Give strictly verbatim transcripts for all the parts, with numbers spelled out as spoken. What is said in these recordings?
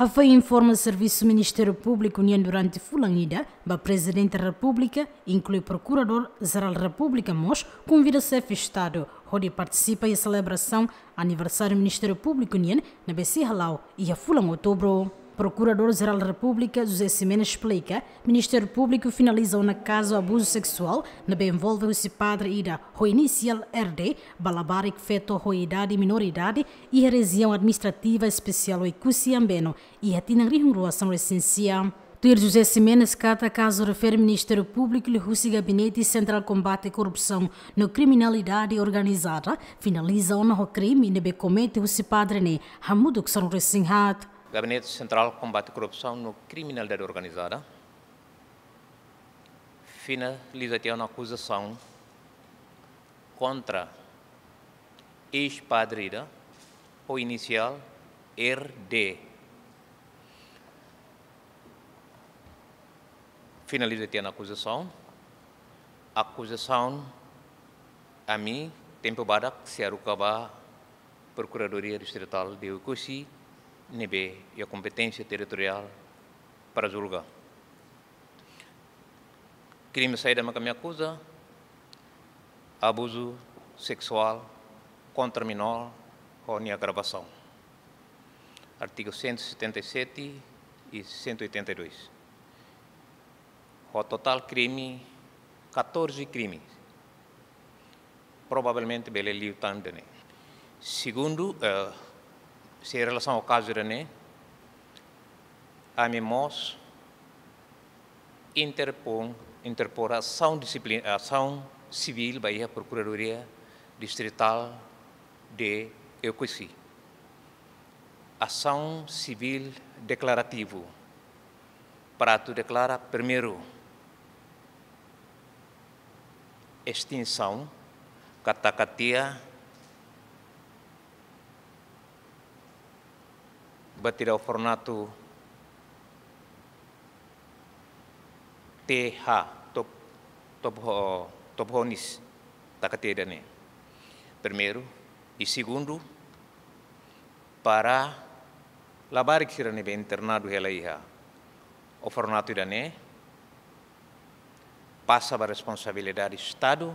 Hafoin informa servisu Ministériu Públiku nian durante fulan ida ba Prezidente Repúblika, inklui Prokuradór Jerál Repúblika mós konvida Xefe Estadu hodi partisipa iha selebrasaun aniversáriu Ministériu Públiku nian ne'ebé sei hala'o iha fulan Outubru. Prokuradór Jerál Repúblika José Ximenes esplika, Ministériu Públiku finaliza ona kazu abuzu seksuál ne'ebé envolve husi padre ida ho inisiál R D ba labarik feto ho idade menoridade iha Rejiaun Administrativa Espesiál Oekusi Ambeno iha tinan rihun rua sanulu-resin-sia. Tuir José Ximenes katak kazu refere Ministériu Públiku liuhusi Gabinete Sentrál Kombate Korrupsaun no Kriminalidade Organizada finaliza ona ho krime ne'ebé komete husi padre ne'e hamutuk sanulu-resin-haat. Gabinete Sentrál Kombate Korrupsaun no Kriminalidade Organizada finaliza tiha ona akuzasaun kontra eis-padre ida ho inisiál R D. Finaliza tiha ona akuzasaun. Akuzasaun ami tempu badak sei haruka ba Prokuradoria Distritál de Oekusi ne'ebé iha kompeténsia territoriál para julga. Krime saida maka ami akuza? Abuzu seksuál kontra menór ho nia agravasaun. Artigu cento e setenta e sete e cento e oitenta e dois. Ho totál krime, catorze krime. Provavelmente bele liu tan ida-ne'e. Segundu, eh, sei relasaun ho kazu ida-ne'e, ami mós interpor, interpor asaun disiplina, asaun sivíl ba iha Prokuradoria Distritál de Oekusi. Asaun sivíl deklarativu para atu deklara primeiru estinsaun katak katia ba tiha ona formato T H, top, top ho-, top honis taka tiha ida-ne'e. Primeiru, i segundu, para labarik sira ne'ebé internadu hela iha orfanatu ida-ne'e pasa ba responsabilidade Estadu,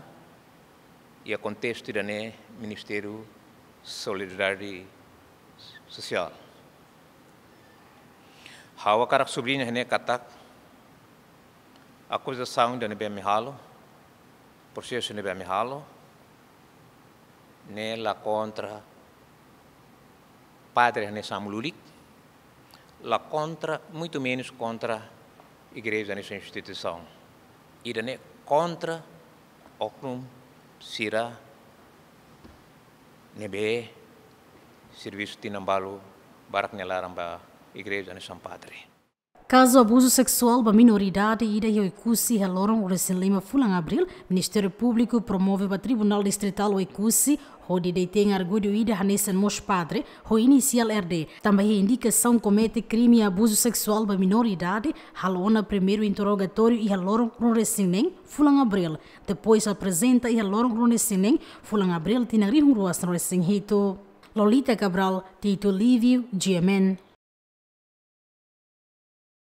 iha kontestu ida-ne'e Ministériu Solidariedade Sosiál. Ha'u hakarak subliña iha ne'e katak akuzasaun ida ne'ebé ami halo, prosesu ne'ebé ami halo, ne'e la kontra padre hanesan ami lulik, la kontra, muito menos kontra igreja hanesan instituisaun. Ida-ne'e kontra oknum sira ne'ebé servisu tinan balu barak nia laran ba igreja hanesan padre. Kazu abuzu seksuál ba menoridade ida iha Oekusi iha loron ruanulu-resin-lima fulan Abríl, Ministériu Públiku promove ba Tribunál Distritál Oekusi, hodi detein arguidu ida hanesan mós padre, ho inisiál R D, tanba iha indikasaun komete krime abuzu seksuál ba menoridade, halo ona primeiru interrogatóriu iha loron ruanulu-resin-neen fulan Abríl, depois aprezenta iha loron ruanulu-resin-neen fulan Abríl tinan rihun rua sanulu-resin-hitu. Lolita Cabral, Tito Lívio, G M N.